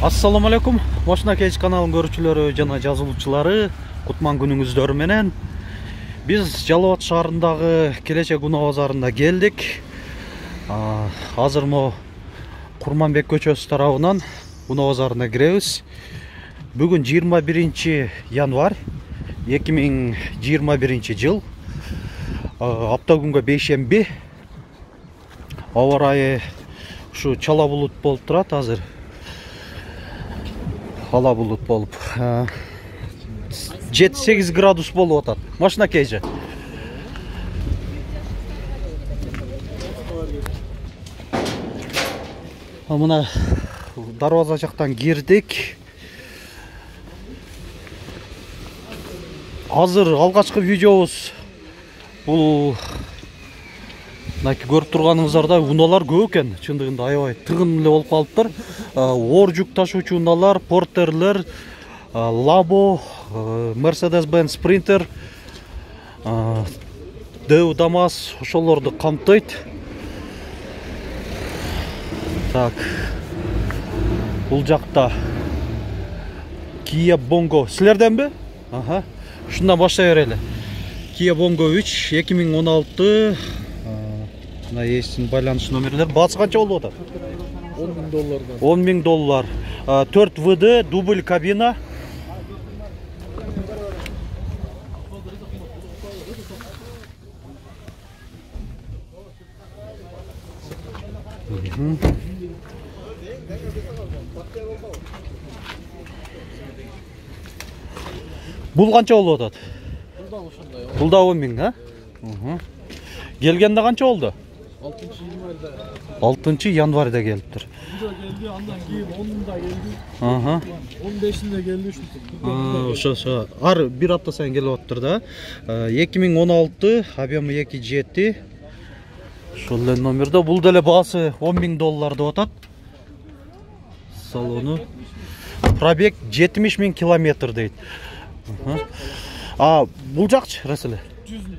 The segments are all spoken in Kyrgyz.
Assalamu alaikum. Машина Кейс каналынын көрүүчүлөрү жана жазылуучулары, кутман күнүңүздөр менен. Биз Жалал Абад шаарындагы Келечек унаа базарында келдик. Азыр мо Курманбек көчөсү тарабынан унаа базарына киребиз. Бүгүн 21 январь 2021 жыл. Апта күнгө бейшемби. Аба ырайы ушу чала булут болуп турат азыр. Ала булут болуп 7-8 градус болуп атат. Машина Кейже. Мына дарбаза жактан кирдик. Азыр алгачкы видеобуз бул көрүп турганыңыздардай унаалар көп экен. Чындыгында аябай тыгын эле болуп калыптыр. Оор жүк ташуучу унаалар, портерлер, Labo, Mercedes-Benz Sprinter, Deu Damas ошолорду камтыйт. Так. Бул жакта Kia Bongo. Силерденби? Шундан башлай берели. Kia Bongo 3 2016. Мына эстин байланыш номерлер. Баасы канча болуп атат? $10,000. $10,000. 4 ВД, дубль кабина. Бул канча болуп атат? Бул да 10,000, Келгенде канча болду? 6 январда келиптир. Келди, андан кийин 10-да келди. 15-inde келди ушинтип. Ошо. Ар бир апта сайын келип атыптыр да. 2016, объемы 2.7. Ошол эле номерде. Бул деле баасы $10,000 деп атат. Салону. Пробег 70,000 километр дейт. Бул жакчы, Расиле? 100,000.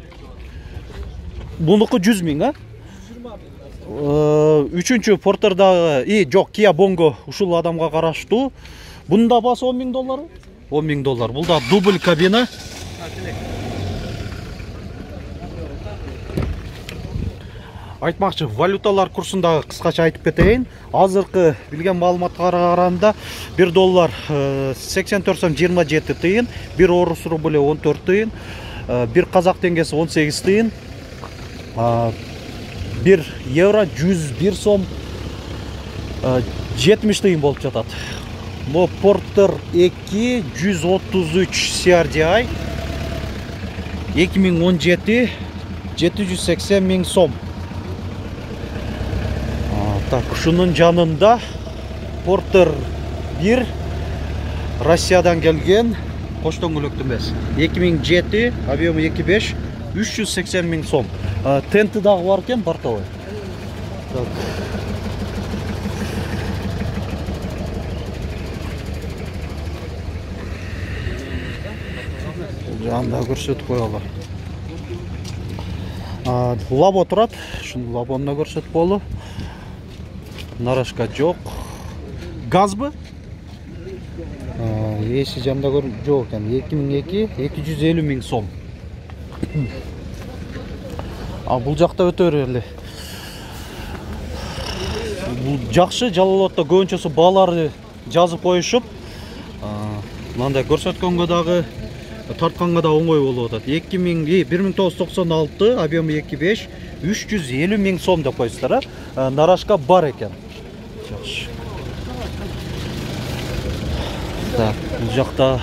Бунуку 100,000, Үчүнчү портердагы, жок, Kia Bongo ушул адамга караштуу. Бунун да баасы $10,000. $10,000. Бул да дубль кабина. Айтмакчы, валюталар курсундагы кыскача айтып кетейин. Азыркы билген маалыматка караганда $1 84 сом 27 тыйын, 1 орус рубль 14 тыйын, 1 казак теңгеси 18 тыйын, 1 евро 101 сом 70 тыйын болуп жатат. Мо Porter 2 133 CRDI 2017 780,000 сом. Так, ушунун жанында Porter 1 Россиядан келген, кош дөңгөлөктүү эмес. 2007, объемы 2.5, 380,000 сом. Тенти дагы бар экен, бортовой. Так. Жанда көрсөтүп коелу. Labo турат, ушун Labo'ну көрсөтүп коелу. Нарашка жок. Газбы? Эси жанда жок экен. 2002 250,000 сом. Бул жакта өтө берели. Бул жакшы, Жалал Абадта көбүнчөсү бааларды жазып коюшуп, мындай көрсөткөнгө дагы тартканга да оңой болуп атат. 1996, объемы 2.5, 350,000 сом деп коюштар. Нарашка бар экен. Жакшы. Так, бул жакта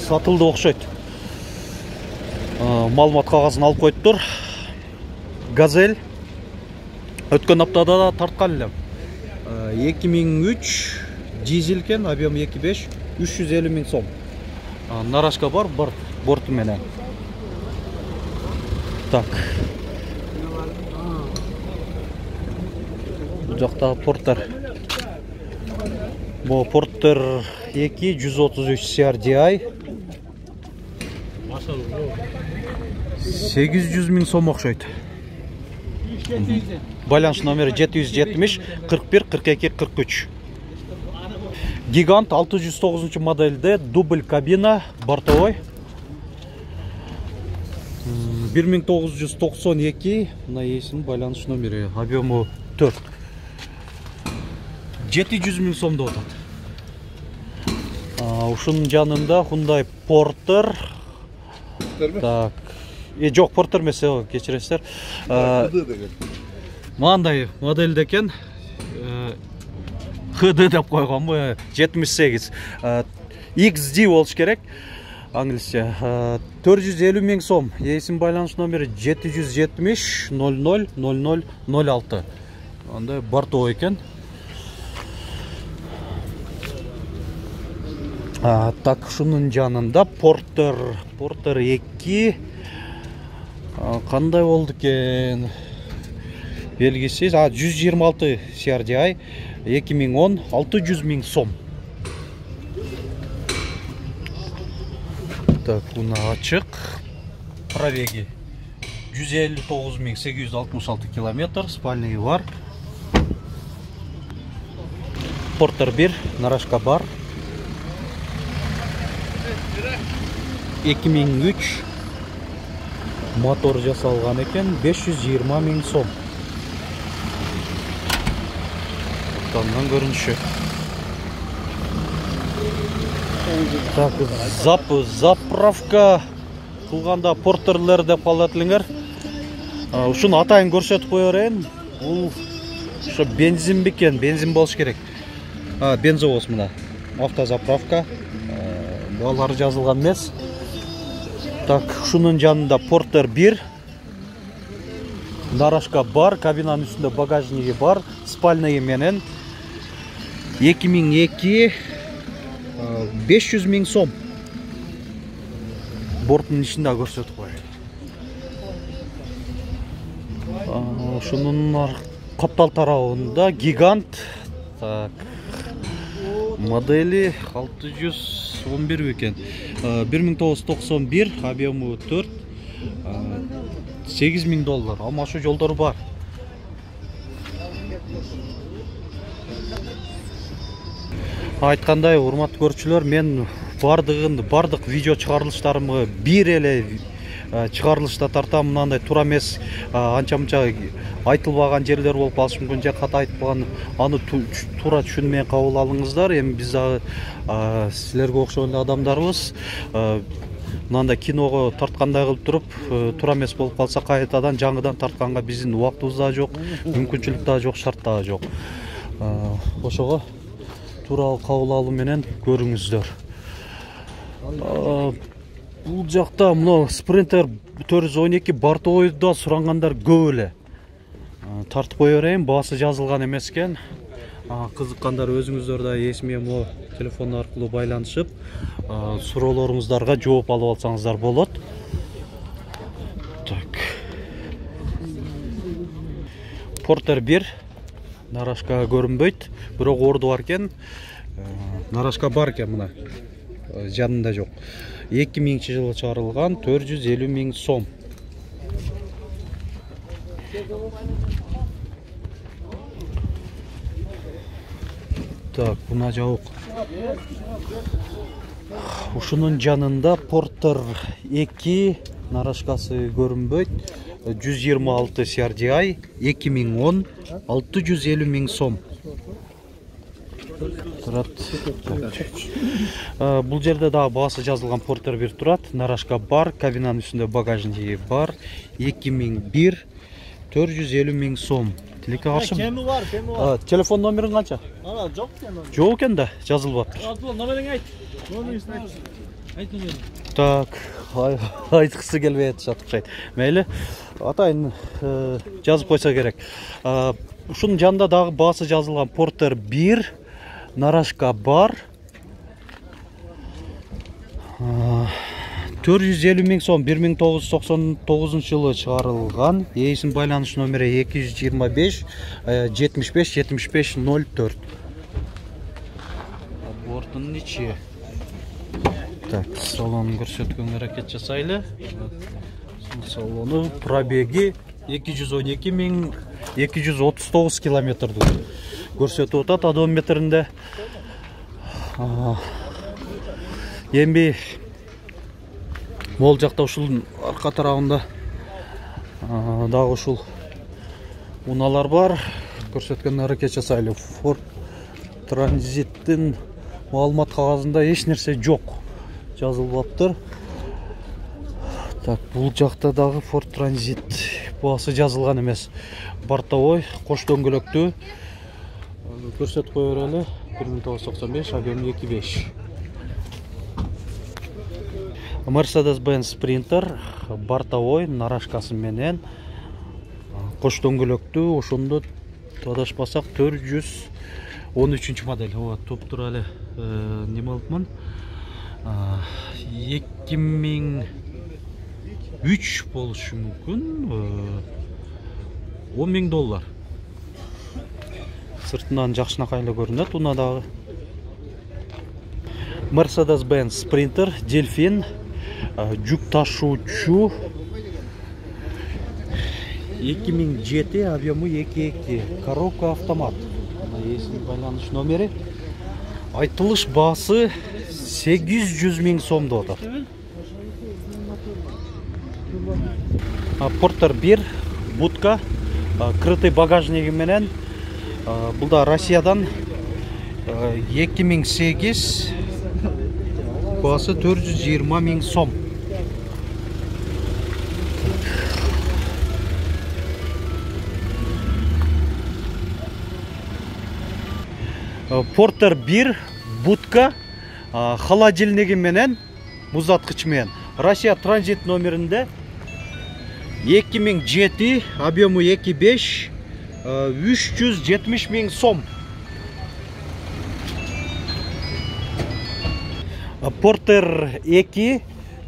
сатылды окшойт. Маалымат кагазын алып коюптур. Газель. Өткөн аптада да тарткан элем. 2003 дизель экен, объем 2.5, 350,000 сом. Нарашка бар борту менен. Так. Бул жакта Porter. Бу Porter 2 133 CRDI 800,000 сом окшойт. Байланыш номери 770 41 42 43. Гигант 609 модельде дубль кабина бортовой. 1992 мына эсин байланыш номери, объему 4. 700 000 сомдо атат. Ушунун жанында Hyundai Porter. Так. Жок, Porter эмес, кечиресиздер. Мындай модельде экен. HD деп койгонбу, 78. XD болуш керек. Англисче. 450 000 сом. Эсин байланыш номери 770 00 00 06. Андай бортовой экен. Так, шунун жанында Porter 2 кандай болду экен? Белгисиз. 126 CRDI 2010 600 000 сом. Так, буна ачык. Пробеги 159 866 километр, спальный бар. Porter 1, нарашка бар. 2003 мотор жасалган экен, 520 000 сом. Тандан көрүнүшү. Так, заправка кылганда Porter'лер деп калат элеңер. Ушуну атайын көрсөтүп кое берейин. Бул ошо бензин бекен, бензин болуш керек. Бензовоз мына. Автозаправка. Балары жазылган эмес. Так, ушунун жанында Porter 1. Нарашка бар, кабинанын үстүндө багажниги бар, спальный менен 2002 500 000 сом. Борттун ичинде көрсөтүп коеюн. Ушунун каптал тарабында Гигант. Так. Модели 611 экен. 1991, объему 4. $8000. Амашы жолдор бар. Айткандай, урматтуу көрүүчүлөр, мен бардык видео чыгарылыштарымы бир эле чыгарылышта тартам. Мындай туура эмес, анча-мынча айтылбаган жерлер болуп калышы мүмкүн, же ката айтылган, аны туура түшүнмөй кабыл алыңыздар. Эми биз силерге окшогон адамдарбыз. Мындай киного тарткандай кылып туруп, туура эмес болуп калса кайтадан жаңыдан тартканга биздин убактыбыз да жок, мүмкүнчүлүк да жок, шарт да жок. Ошого туура кабыл алуу менен көрүңүздөр. Бул жакта мына Sprinter 412 бортовойдо сурангандар көп эле. Тартып кое берейин, баасы жазылган эмес экен. Кызыккандар өзүңүздөр да эсиме мо телефон аркылуу байланышып, суроолоруңуздарга жооп алып алсаңыздар болот. Так. Porter 1 нарашка көрүнбөйт, бирок орду бар экен. Нарашка бар экен мына. Жанында жок. 2000-жылы чыгарылган, 450 000 сом. Так, буна жабык. Ушунун жанында Porter 2 нарашкасы көрүнбөйт. 126 CRDI 2010 650 000 сом. Турат. Бул жерде дагы баасы жазылган Porter 1 турат. Нарашка бар, кабинанын үстүндө багажниги бар. 2001 450 000 сом. Тилекке каршы. Кеми бар. Телефон номериң канча? Жок экен. Жок экен да, жазылбаптыр. Номериңи айт. Номериңи айт. Айт номерин. Так, айткысы келбей атышат окшойт. Мейли, атайын жазып койсо керек. Ушунун жанында дагы баасы жазылган Porter 1, нарашка бар. 450 000 сом, 1999 жылы чыгарылган. Эсин байланыш номери 225 75 75 04. Борттун ичи. Так, салонун көрсөткөнгө аракет жасайлы. Салону пробеги 212 239 километрди көрсөтүп атат одометринде. Эми могул жакта ушул арка тарабында дагы ушул унаалар бар. Көрсөткөн аракет жасайлы. Ford Tranzit'in маалымат кагазында эч нерсе жок. Жазылбаптыр. Так, бул жакта дагы Ford Transit баасы жазылган эмес. Бортовой, кош дөңгөлөктүү. Көрсөтүп кое берели. 1995, объем 2.5. Mercedes-Benz Sprinter, бортовой, нарашкасы менен. Кош дөңгөлөктүү, ошондо адашпасак 413 модель. Ооба, топ тура эле неме алыпмын. 2003 болушу мүмкүн. $10.000. Сыртынан жакшынакай эле көрүнөт унадагы. Mercedes-Benz Sprinter, Delfin, жүк ташуучу 2007, объему 2.2, коробка автомат. Эсин байланыш номери. Айтылыш баасы 800.000 сом деп атат. Porter 1, будка, крытый багажниги менен. Бул да Россиядан 2008, баасы 420.000 сом. Porter 1, будка, холодильниги менен, музаткыч менен. Россия транзит номеринде 2007, объему 2.5, 370.000 сом. Porter 2,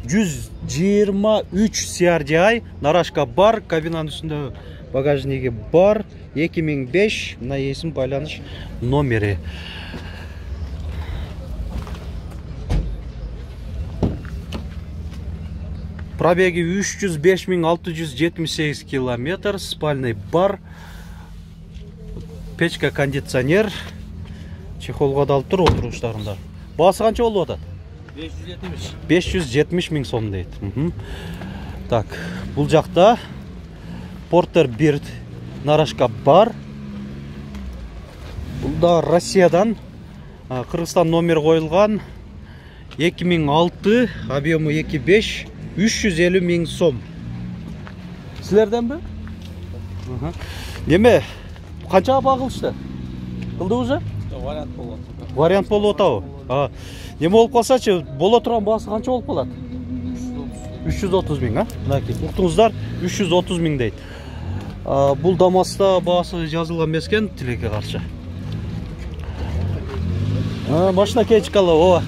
123 CRDI, нарашка бар, кабинанын үстүндө багажниги бар, 2005, мына эсим байланыш номери. Пробеги 305.678 километр, спальный бар, печка, кондиционер, чехолго да алып тур отуруштарында. Баасы канча болуп атат? 570.000 сом дейт. Так, бул жакта Porter 1 нарашка бар. Бул да Россиядан, Кыргызстан номер коюлган, 2006, объему 2.5, 350.000 сом. Силерденби? Неме, канчага багылышты? Кылды уже? Вариант болот. Вариант болуп атабы? Неме болуп калсачы, боло турган баасы канча болуп калат? 330.000, Мынакей, уктуңуздар, 330.000 дейт. Бул Дамаста баасы жазылган эмес экен, тилекке каршы. Машина кечкалы, ооба.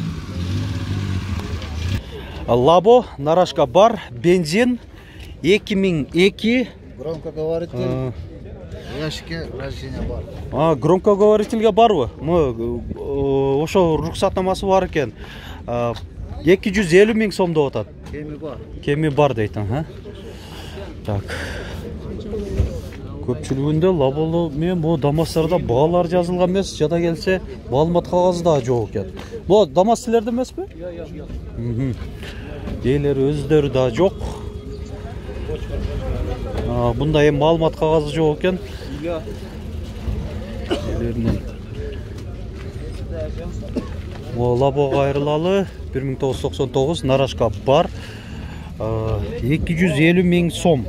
Лабо, нарашка бар, бензин, 2002. Громкоговоритель, ящики рождения бар. Громкоговорительге барбы? Ошо руксатнамасы бар экен. 250.000 сом деп атат. Кеми бар. Кеми бар дейт. Так. Көпчүлүгүндө лаболо менен бу Дамастарда баалар жазылган эмес, жада келсе маалымат кагазы да жок экен. Бу Дамас силерде эмеспи? Жок.Ээлери өздөрү да жок. Бунда эми маалымат кагазы жок экен. Лабого айрылалы 1999, нарашка бар, 250.000 сом.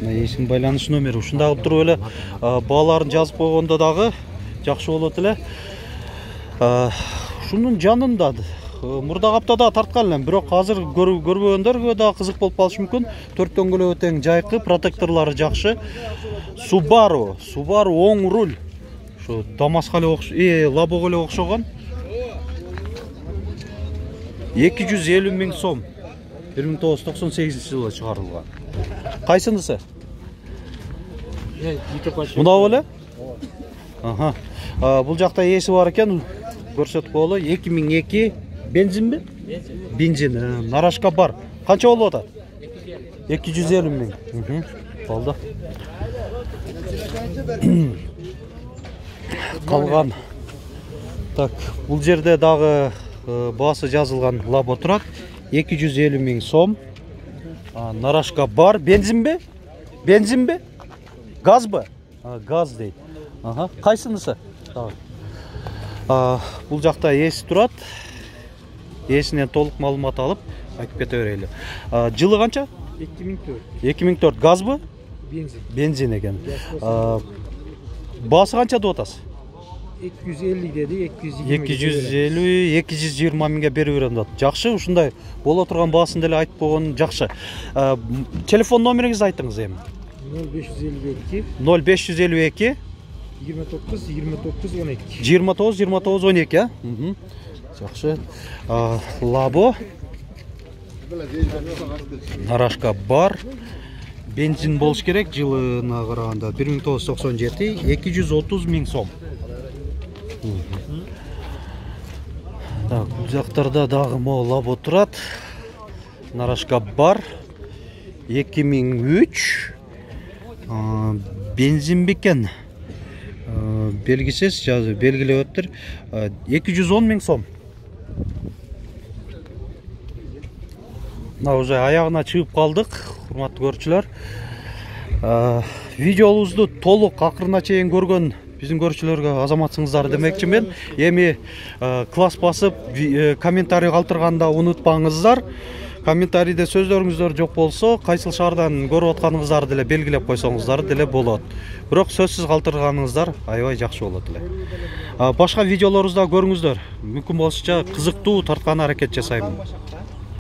Эсин байланыш номери. Ушундай кылып туруп эле бааларын жазып койгондо дагы жакшы болот эле. Ушунун жанында мурдагы аптада тарткан элем, бирок азыр көрбөгөндөргө да кызык болуп калышы мүмкүн. 4 дөңгөлөгү тең жайкы, протекторлору жакшы. Subaru оң руль. Шу Дамаска эле Лабого эле окшогон. 250.000 сом. 1998-жылы чыгарылган. Кайсынысы? Мына беле? Бул жакта эси бар экен. Көрсөтүп коелу. 2002 бензинби? Бензин. Нарашка бар. Канча болуп атат? 250.000. Болду. Калган Так, бул жерде дагы баасы жазылган лабо турат. 250 000 сом. Нарашка бар. Бензинби? Бензинби? Газбы? Газ дейт. Кайсынысы? Бул жакта эси турат. Эсинен толук маалымат алып, айтып кете берели. Жылы канча? 2004. 2004. Газбы? Бензин. Бензин экен. Баасы канча деп атасыз? 250 dedi, 250-220 миңге берип берем деп. Жакшы, ушундай боло турган баасын деле айтып койгон жакшы. Телефон номериңизди айтыңыз эми. 0552 0552 29 29 12. 29 29 12, Жакшы. Лабо. Нарашка бар. Бензин болуш керек, жылына караганда 1997, 230 000 сом. Так, бул жактарда дагы могу лабо турат. Нарашка бар. 2003. Бензин бекен. Белгисиз, белгилептир. 210 000 сом. Уже аягына чыгып калдык, урматтуу көрүүчүлөр. Видеобузду толук акырына чейин көргөн биздин көрүүчүлөргө азаматсыңыздар демекчимин. Эми класс басып, комментарий калтырганда унутпаңыздар. Комментарийде сөздөрүңүздөр жок болсо, кайсыл шаардан көрүп атканыңыздарды деле белгилеп койсоңуздар деле болот. Бирок сөзсүз калтырганыңыздар аябай жакшы болот эле. Башка видеолорубузда көрүңүздөр. Мүмкүн болушунча кызыктуу тарткан аракет жасайм.